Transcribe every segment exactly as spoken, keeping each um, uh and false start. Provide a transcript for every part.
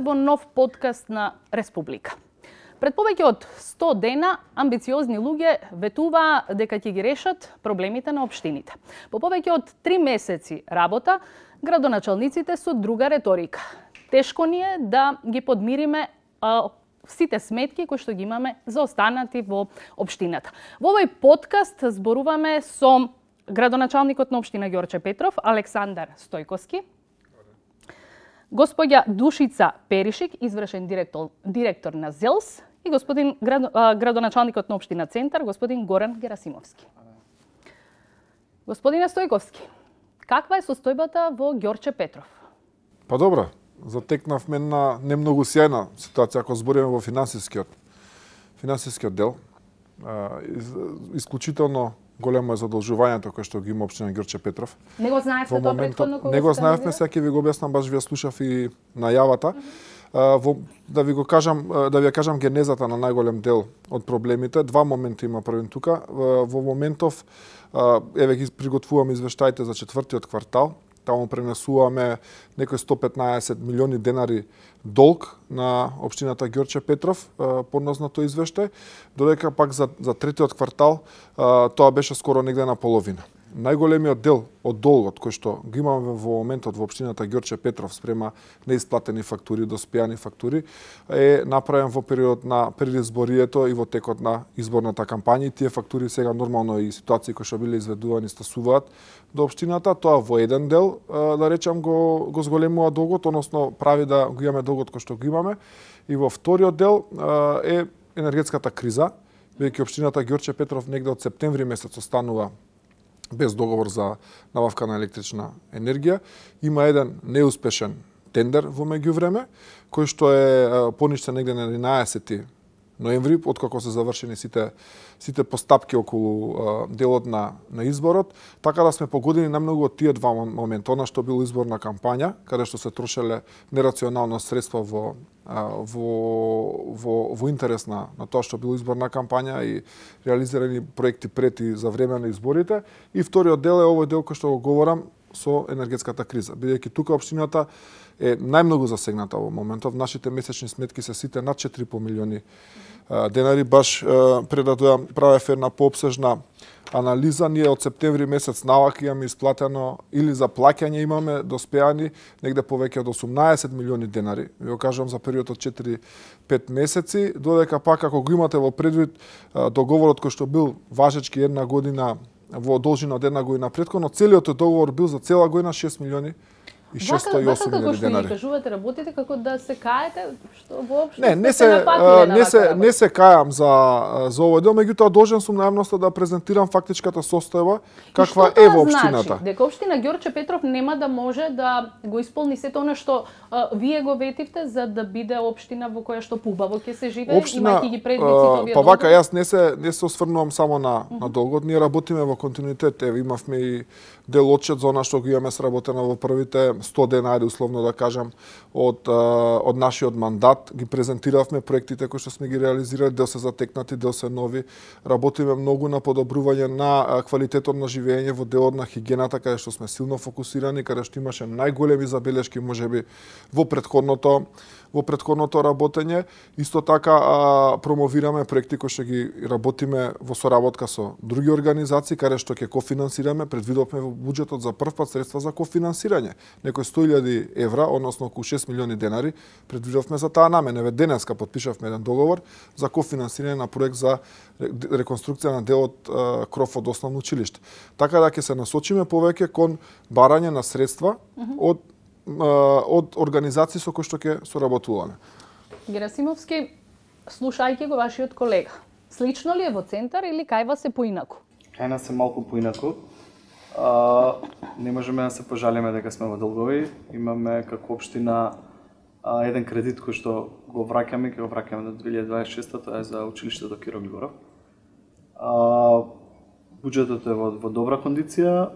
во нов подкаст на Республика. Пред повеќе од сто дена амбициозни луѓе ветуваа дека ќе ги решат проблемите на општините. По повеќе од три месеци работа, градоначалниците со друга реторика. Тешко ни е да ги подмириме а, сите сметки кои што ги имаме заостанати во општината. Во овој подкаст зборуваме со градоначалникот на општина Ѓорче Петров, Александар Стојковски, господја Душица Перишик, извршен директор, директор на ЗЕЛС, и господин град, а, градоначалникот на општина Центар, господин Горан Герасимовски. Господине Стојковски, каква е состојбата во Ѓорче Петров? Па добра, затекнавме на не многу сјајна ситуација ако збориме во финансискиот финансискиот дел. А, из, исклучително големо е задолжувањето кое што ги има општина Ѓорче Петров. Не го знаевте тоа претходно кога Не го знаевме, сега ќе ви го објаснам, баш ви ја слушав и најавата. Mm -hmm. Uh, во, да ви го кажам, uh, да ви ја кажам генезата на најголем дел од проблемите. Два моменти има првен тука. Uh, во моментов, uh, еве ги приготвуваме извештаите за четвртиот квартал. Таму пренесуваме некои сто петнаесет милиони денари долг на општината Ѓорче Петров, uh, поднос на тој извештај, додека пак за, за третиот квартал uh, тоа беше скоро негде на половина. Најголемиот дел од долгот кој што го имаме во моментот во општината Ѓорче Петров спрема неисплатени фактури, доспеани фактури, е направен во период на предизборието и во текот на изборната кампања. Тие фактури сега нормално и ситуации кои што биле изведувани стасуваат до општината. Тоа во еден дел, да речам, го, го зголемува долгот, односно прави да го имаме долгот кој што го имаме. И во вториот дел е енергетската криза, бидејќи општината Ѓорче Петров негде од септември месец останува без договор за набавка на електрична енергија. Има еден неуспешен тендер во меѓувреме, кој што е поништен негде на единаесети ноември, откако се завршени сите сите постапки околу а, делот на на изборот, така да сме погодени најмногу од тие два момента, она што бил изборна кампања, каде што се трошеле нерационално средства во а, во во во интерес на на тоа што бил изборна кампања и реализирани проекти пред и за време на изборите, и вториот дел е овој дел кој што го говорам со енергетската криза, бидејќи тука општината е најмногу засегната во моментов. Нашите месечни сметки се сите над четири и по милиони денари. Баш пред да дојам правев една поопсежна анализа. Ние од септември месец навака имаме исплатено или за плаќање имаме доспеани негде повеќе од осумнаесет милиони денари. Ви го кажувам за период од четири пет месеци, додека пак ако го имате во предвид договорот кој што бил важечки една година во должина од една година претходно, целиот договор бил за цела година шест милиони и шестстотини и осум милиони денари. Како што ни кажувате, работите како да се каете, што воопшто не, не се не се не се кајам за за овој дел, меѓутоа должен сум на јавноста да презентирам фактичката состојба каква е во општината. Значи, дека општина Ѓорче Петров нема да може да го исполни сето она што а, вие го ветивте за да биде општина во која што побаво ќе се живее, имајќи ги предвид овие. Па вака јас не се не се осврнувам само на uh -huh. на долгот, ние работиме во континуитет. Еве имавме и дел отчет за она што го имаме сработено во првите сто денари, условно да кажам, од од нашиот мандат. Ги презентиравме проектите кои што сме ги реализирали, дел се затекнати, дел се нови. Работиме многу на подобрување на квалитетот на живење во делот на хигиената, каде што сме силно фокусирани, каде што имаше најголеми забелешки можеби во претходното во претходното работење. Исто така а, промовираме проекти кои што ги работиме во соработка со други организации, каде што ќе кофинансираме. Предвидовме во буџетот за прв пат средства за кофинансирање. Некои сто илјади евра, односно околу шест милиони денари, предвидовме за таа намена. Еве денеска потпишавме еден договор за кофинансирање на проект за реконструкција на делот а, кров од основно училиште. Така да ќе се насочиме повеќе кон барање на средства mm -hmm. од од организации со кои што ќе соработуваме. Герасимовски, слушајќи го вашиот колега, слично ли е во Центар или кај вас е поинаку? Кај нас е малку поинаку. А, не можеме да се пожалиме дека сме во долгови. Имаме како општина а, еден кредит кој што го враќаме, ќе го враќаме до две илјади дваесет и шеста, тоа е за училиштето Киро Глигоров. А, буџетот е во, во добра кондиција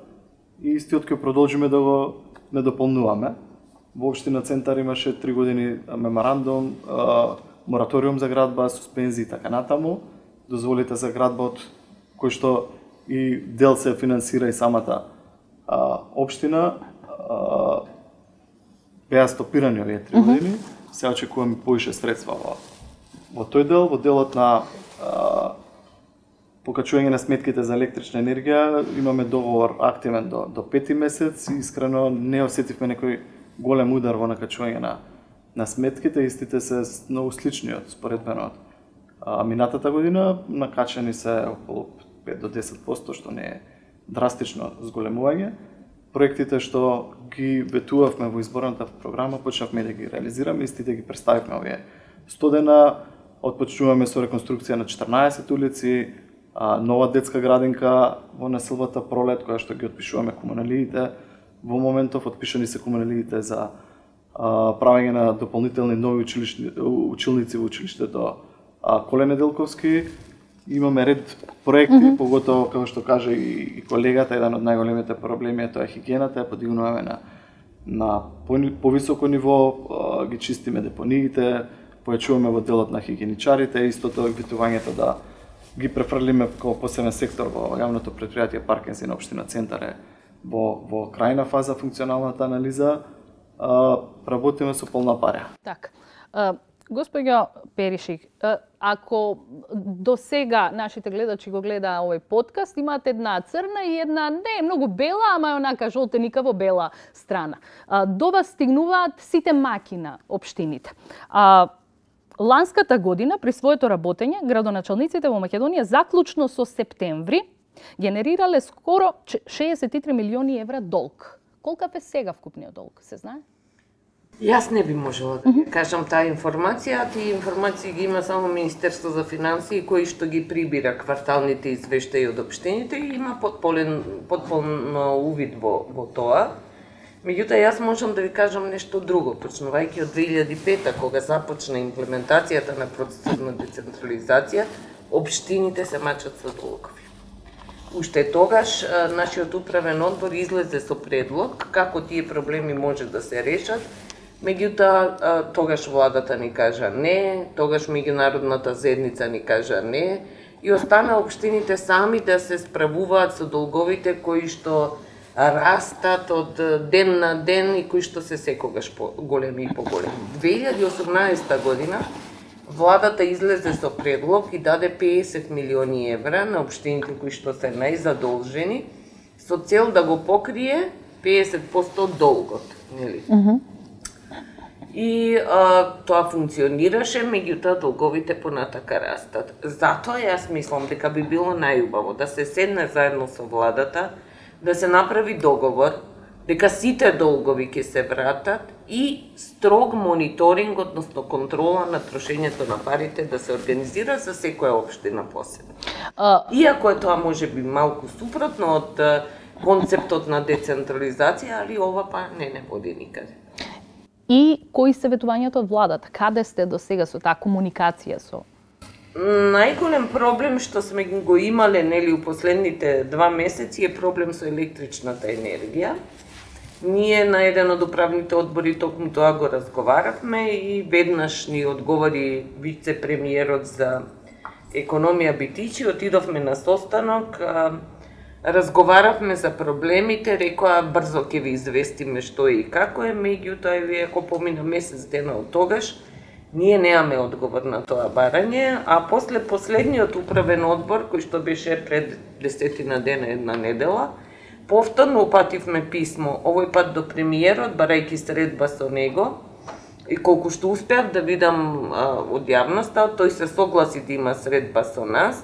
и истиот ќе продолжиме да го не дополнуваме. Во општина Центар имаше три години меморандум, а, мораториум за градба, суспензии и така натаму. Дозволите за градбот кој што и дел се финансира и самата а, општина, а, беа стопирани овие три години. се очекуваме повише средства во, во тој дел, во делот на а, покачување на сметките за електрична енергија, имаме договор активен до, до пети месец и искрено не осетивме некој голем удар во накачување на, на сметките, истите се многу слични од споредбено од а, минатата година, накачани се околу пет до десет проценти, што не е драстично зголемување. Проектите што ги ветувавме во изборната програма, почнавме да ги реализираме, истите ги представивме овие сто дена, отпочнуваме со реконструкција на четрнаесет улици, нова детска градинка во населбата Пролет, која што ги отпишуваме комуналиите. Во моментов отпишани се комуналиите за правење на дополнителни нови училишни, училници во училиштето Коле Неделковски. Имаме ред проекти, mm -hmm. поготово, како што каже и, и колегата, еден од најголемите проблеми е тоа хигиената, ја подигнуваме на, на повисоко ниво, а, ги чистиме депониите, појачуваме во делот на хигиеничарите, истото ветувањето да ги префрлиме како посебен сектор во јавното претпријатие Паркинси на општина Центар е во, во крајна фаза функционалната анализа, а, работиме со полна паря. Так. Госпоѓо Перишик, ако до сега нашите гледачи го гледа овој подкаст, имаат една црна и една не многу бела, ама е онака жолтеникаво бела страна. До вас стигнуваат сите маки на општините. Ланската година, при своето работење, градоначалниците во Македонија заклучно со септември генерирале скоро шеесет и три милиони евра долг. Колкав е сега вкупниот долг, се знае? Јас не би можела да mm-hmm. кажам таа информација, тие информации ги има само Министерство за финансии, кој што ги прибира кварталните извештаи од општините и има потполен, потполно увид во, во тоа. Меѓутоа, јас можам да ви кажам нешто друго, почнувајќи од две илјади и пета, кога започна имплементацијата на процесот на децентрализација, општините се мачат со долгови. Уште тогаш, нашиот управен одбор излезе со предлог како тие проблеми може да се решат. Меѓутоа, тогаш владата ни кажа не, тогаш меѓународната заедница ни кажа не и остана општините сами да се справуваат со долговите кои што растат од ден на ден и кои што се секогаш големи и поголеми. две илјади и осумнаесета година владата излезе со предлог и даде пеесет милиони евра на општините кои што се најзадолжени со цел да го покрие пеесет проценти од долгот, нели? Mm-hmm. И а, тоа функционираше, меѓутоа долговите понатака растат. Затоа јас мислам дека би било најубаво да се седне заедно со владата, да се направи договор, дека сите долгови ќе се вратат и строг мониторинг, односно контрола на трошењето на парите да се организира за секоја општина посебно. Uh... Иако е тоа може би малку супротно од концептот на децентрализација, али ова па не не води никаде. И кои се ветувањата од владата? Каде сте до сега со таа комуникација со? Најголем проблем што сме го имале нели у последните два месеци е проблем со електричната енергија. Ние на еден од управните одбори токму тоа го разговаравме и веднаш ни одговори вице-премиерот за економија Битичи, отидовме на состанок, разговаравме за проблемите, рекоа брзо ќе ви известиме што е и како е, меѓутоа еве ако помина месец дена од тогаш, ние немаме одговор на тоа барање, а после последниот управен одбор, кој што беше пред десетина дена, една недела, повторно упативме писмо, овој пат до премиерот, барајќи средба со него, и колку што успеав да видам а, од јавноста, тој се согласи да има средба со нас,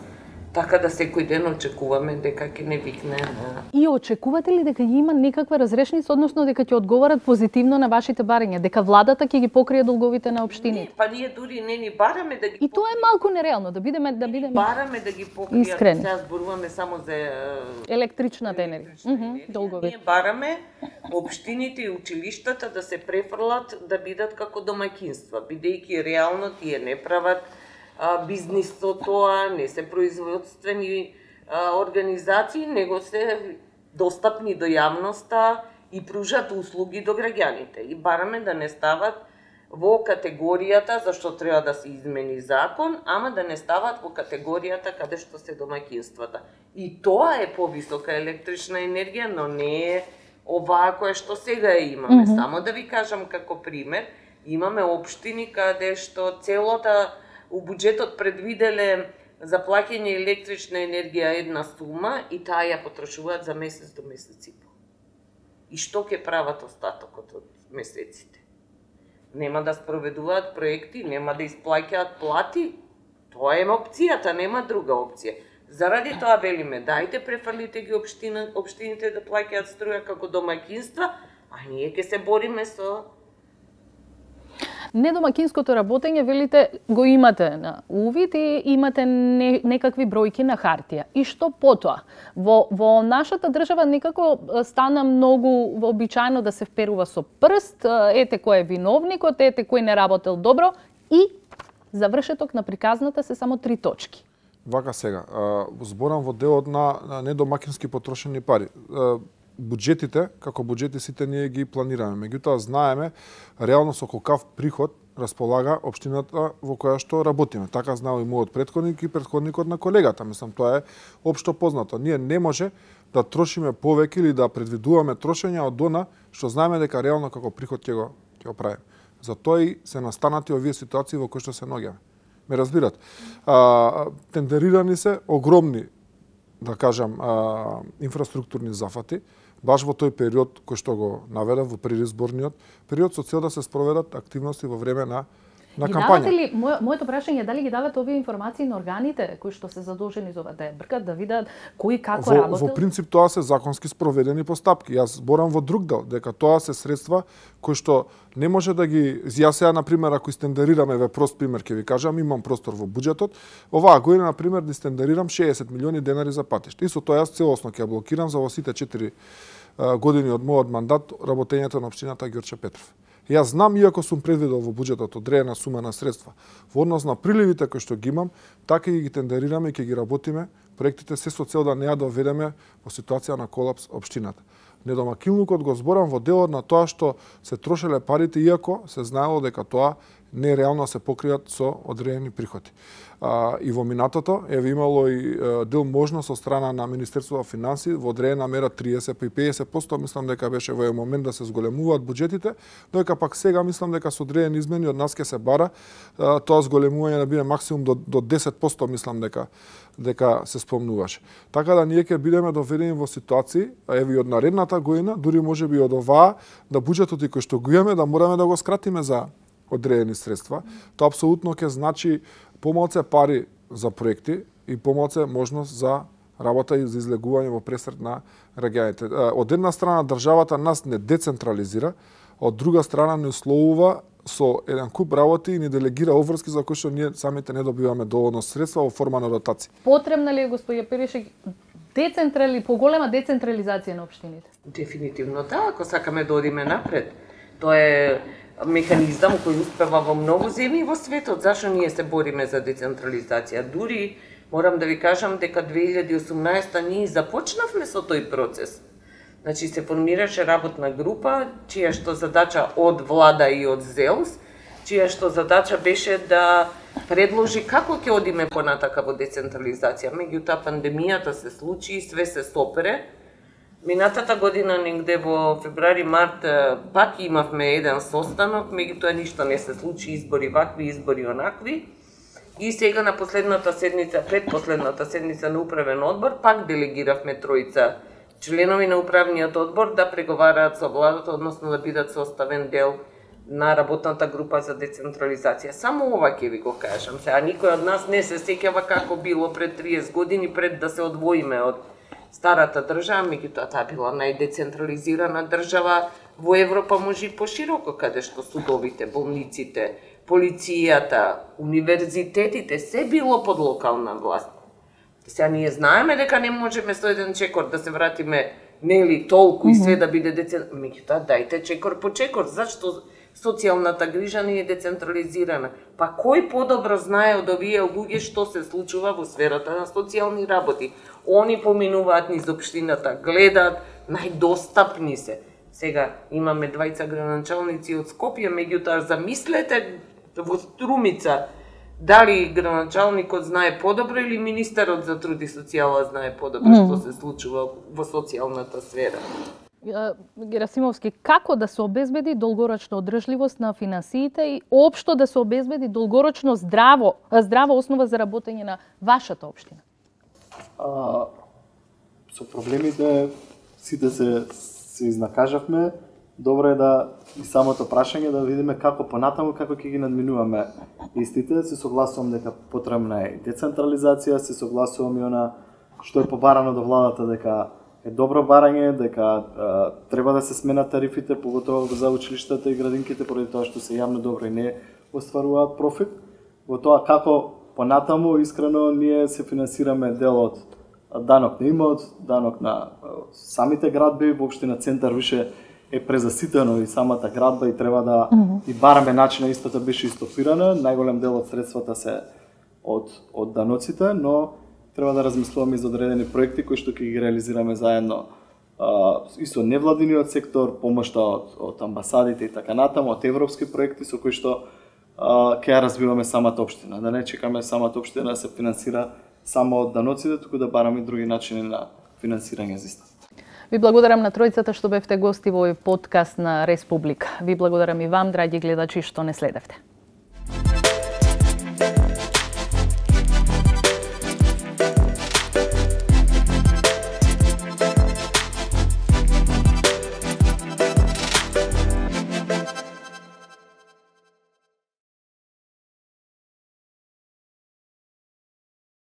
така да секој ден очекуваме дека ќе не викне на... И очекувате ли дека има некаква разрешница, односно дека ќе одговарат позитивно на вашите барања, дека владата ќе ги покрие долговите на општините? Не, па ние дури не ни бараме да ги покријат. И тоа е малку нереално, да бидеме да бидеме бараме да ги покријат. Искрени. Сега зборуваме само за електричната енергија. Мхм, долгови. Ние бараме општините и училиштата да се префрлат да бидат како домаќинства, бидејќи реално тие не прават бизнис со тоа, не се производствени а, организации, него се достапни до јавноста и пружат услуги до граѓаните. И бараме да не стават во категоријата зашто треба да се измени закон, ама да не стават во категоријата каде што се домаќинствата. И тоа е повисока електрична енергија, но не е оваа која што сега имаме. Mm-hmm. Само да ви кажам како пример, Имаме општини каде што целота у буџетот предвиделе за плаќање електрична енергија една сума и таа ја потрошуваат за месец до месец и пол. И што ќе прават остатокот од месеците? Нема да спроведуваат проекти, нема да исплаќаат плати. Тоа е опцијата, нема друга опција. Заради тоа велиме, дајте префрлите ги општина, општините да плаќаат струја како домаќинства, а ние ќе се бориме со недомакинското работење, велите, го имате на увид и имате не, некакви бројки на хартија. И што потоа? Во, во нашата држава некако стана многу вообичаено да се вперува со прст, ете кој е виновникот, ете кој не работел добро и завршеток на приказната се само три точки. Вака сега, зборам во делот на недомакински потрошени пари. Буџетите, како буџети сите ние ги планираме. Меѓутоа знаеме реално со колкав приход располага општината во која што работиме. Така знал и мојот претходник и претходникот на колегата. Мислам, тоа е општо познато. Ние не може да трошиме повеќе или да предвидуваме трошење од она што знаеме дека реално како приход ќе го ќе го правиме. Затоа и се настанати овие ситуации во кои што се наоѓаме. Ме разбират. А, тендерирани се огромни, да кажам, а, инфраструктурни зафати, баш во тој период кој што го наведав во предизборниот период, со цел да се спроведат активности во време на на ги кампања. Давате ли, мој, моето прашање е дали ги давате овие информации на органите кои што се задолжени за ова да ја бркат, да видат кој како во, работел? Во принцип тоа се законски спроведени постапки. Јас зборам во друг дел, дека тоа се средства кои што не може да ги... Јас сега, например, ако истендерираме, ве прост пример ќе ви кажам, имам простор во буџетот, оваа година, например, да истендерирам шеесет милиони денари за патишта. Исто тоа јас целосно ќе блокирам за во сите четири години од мојот мандат работењето на општината Ѓорче Петров. Јас знам, иако сум предвидел во буџетот одредена сума на средства, во однос на приливите кои што ги имам, така и ги тендерираме и ќе ги работиме проектите се со цел да не ја доведеме во ситуација на колапс општината. Недомакинлукот го зборам во делот на тоа што се трошеле парите, иако се знаело дека тоа не реално се покријат со одредени приходи. А, и во минатото еве имало и а, дел можност од страна на Министерството за финансии во одредена мера триесет и педесет проценти, мислам дека беше во еден момент да се зголемуваат буџетите, додека пак сега мислам дека со одредени измени од нас ќе се бара а, тоа зголемување да биде максимум до, до десет проценти, мислам дека дека се спомнуваше. Така да ние ќе бидеме доведени во ситуации, еве и од наредната година, дури можеби од оваа, да буџетот и кој што го имаме да мораме да го скратиме за одредени средства. Тоа апсолутно ќе значи помалце пари за проекти и помалце можност за работа и за излегување во пресрет на граѓаните. Од една страна државата нас не децентрализира, од друга страна не условува со еден куп работи и ни делегира обврски за кои што ние самите не добиваме доволно средства во форма на дотации. Потребна ли е, господја Перишек, децентрали, поголема децентрализација на општините? Дефинитивно да, ако сакаме да одиме напред. Тоа е механизам кој успева во многу земји во светот. Зашо ние се бориме за децентрализација? Дури морам да ви кажам дека две илјади и осумнаесета ние започнавме со тој процес. Значи се формираше работна група, чија што задача од влада и од ЗЕЛС, чија што задача беше да предложи како ќе одиме понатака во децентрализација. Меѓутоа пандемијата се случи и све се сопере. Минатата година, негде во февруари-март, пак имавме еден состанок, меѓутоа ништо не се случи, избори вакви, избори онакви. И сега на последната седница, предпоследната седница на управен одбор, пак делегиравме тројца членови на управниот одбор да преговараат со владата, односно да бидат составен дел на работната група за децентрализација. Само ова ќе ви го кажам. Сега никој од нас не се сеќава како било пред триесет години, пред да се одвоиме од старата држава, меѓутоа таа била најдецентрализирана држава во Европа, може и пошироко, каде што судовите, болниците, полицијата, универзитетите, се било под локална власт. Сега ние знаеме дека не можеме со еден чекор да се вратиме, нели, толку и све да биде децентрализирано. Меѓутоа, дајте чекор по чекор, зашто социјалната грижа не е децентрализирана? Па кој подобро знае од овие луѓе што се случува во сферата на социјални работи? Они поминуваат низ општината, гледаат, најдостапни се. Сега имаме двајца граначалници од Скопје, меѓутоа замислете во Струмица, дали граначалникот знае подобро или министерот за труд и социјала знае подобро што се случува во социјалната сфера. Герасимовски, како да се обезбеди долгорочна одржливост на финансиите и општо да се обезбеди долгорочно здраво, здрава основа за работење на вашата општина? А, со проблемите сите се, се изнакажавме. Добро е да и самото прашање да видиме како понатаму, како ќе ги надминуваме истите. Се согласувам дека потребна е децентрализација, се согласувам и она што е побарано до владата дека е добро барање, дека а, треба да се сменат тарифите, поготово за училиштата и градинките, поради тоа што се јавно добро и не остваруваат профит. Во тоа како понатаму, искрено, ние се финансираме дел од данок на имот, данок на самите градби, воопшто на центар више е презаситено и самата градба и треба да mm -hmm. и бараме начина истата беше истопирана. Најголем дел од средствата се од, од даноците, но треба да размислуваме за одредени проекти кои што ќе ги реализираме заедно а, и со невладиниот сектор, помошта од, од амбасадите и така натаму, од европски проекти со кои што а, ќе ја развиваме самата општина. Да не чекаме самата општина да се финансира само од даноците, туку да бараме и други начини на финансирање за иста. Ви благодарам на тројцата што бевте гости во овој подкаст на Республика. Ви благодарам и вам, драги гледачи, што не следевте.